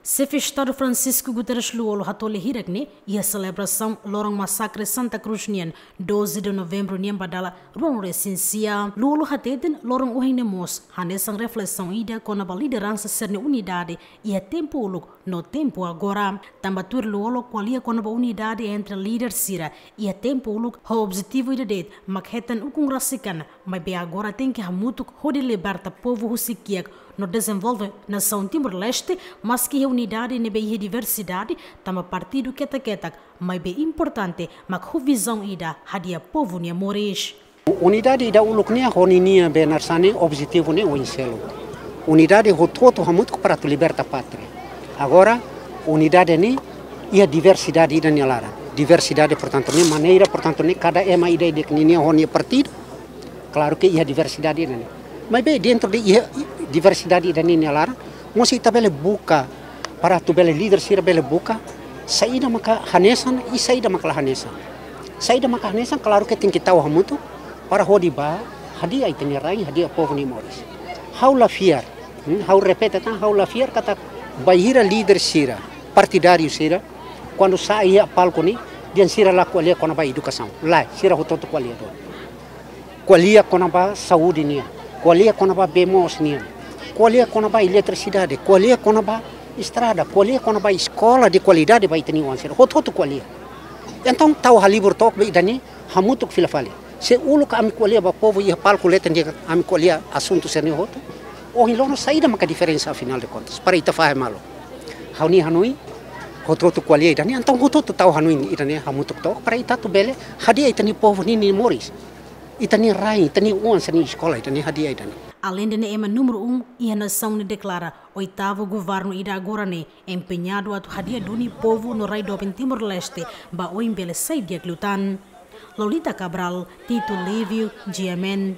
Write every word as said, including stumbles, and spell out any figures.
Xefe Estadu Francisco Guterres Lú-Olo hato'o lia hirak ne'e iha selebrasaun loron masakre Santa Cruz nian, doze de novembro nian ba dala ruanulu-resin-sia. Lú-Olo hateten loron ohin ne'e mós hanesan reflesaun ida kona-ba lideransa sira-nia unidade iha tempu uluk no tempu agora. Tanba tuir Lú-Olo, ko'alia kona-ba unidade entre líder sira iha tempu uluk ho objetivu ida de'it, mak hetan ukun rasik an, maibé agora tenke hamutuk hodi liberta povu husi kiak no dezenvolve nasaun Timor-Leste, maski iha unidade ne'ebé iha diversidade, tanba partidu ketak-ketak, maibé importante mak ho vizaun ida hadi'a povu nia moris. Unidade ida uluk nian ho ninia be narsani objetivu ne'e oin seluk. Unidade hotu-hotu hamutuk para atu liberta pátria. Agora, unidade ne'e iha diversidade ida nia laran. Diversidade, portantu, ne'e maneira, portantu, ne'e kada ema ida-idak ninia ho nia partidu. Klaru ke iha diversidade ida ne'e. Maibé dentru de iha diversidade ida ne'e nia laran, mós ita bele buka, para atu bele líder sira bele buka saida maka hanesan i saida maka la hanesan. Saida maka hanesan, klaru ke tenke tau hamutuk para hodi bá hadi'a ita-nia rain, hadi'a povu nia moris. Ha'u la fiar, hmm, ha'u repete tan, ha'u la fiar katak bainhira líder sira, partidáriu sira, kuandu sa'e iha palku ne'e, dehan sira la ko'alia kona-ba edukasaun. Lae, sira hotu-hotu ko'alia duni. Ko'alia kona-ba saúde nian, ko'alia kona-ba bee moos nian, ko'alia kona-ba eletrisidade, ko'alia kona-ba estrada, ko'alia kona-ba eskola de kualidade ba ita-nia oan sira. Hotu-hotu ko'alia. Entaun, tau halibur took ba ida-ne'e, hamutuk fila fali. Se uluk ami ko'alia ba povu iha palku leten, dehan ami ko'alia asuntu sira-ne'e hotu, ohin loron saida maka diferensa, afinál de contas, para ita fahe malu? Ha'u-nia hanoin, hotu-hotu ko'alia ida-ne'e, entaun hotu-hotu tau hanoin ida-ne'e hamutuk took para ita atu bele hadi'a ita-nia povu ninia moris, ita-nia rain, ita-nia oan sira-nia eskola, ita-nia hadi'a ida-ne'e. Aleinde ne'e, ema númeru um iha nasaun ne'e deklara oitavu governu ida agora ne'e empeñadu atu hadi'a duni povu no rai doben Timor-Leste ba oin bele sai di'ak liután. Lolita Cabral, Tito Livio, G M N.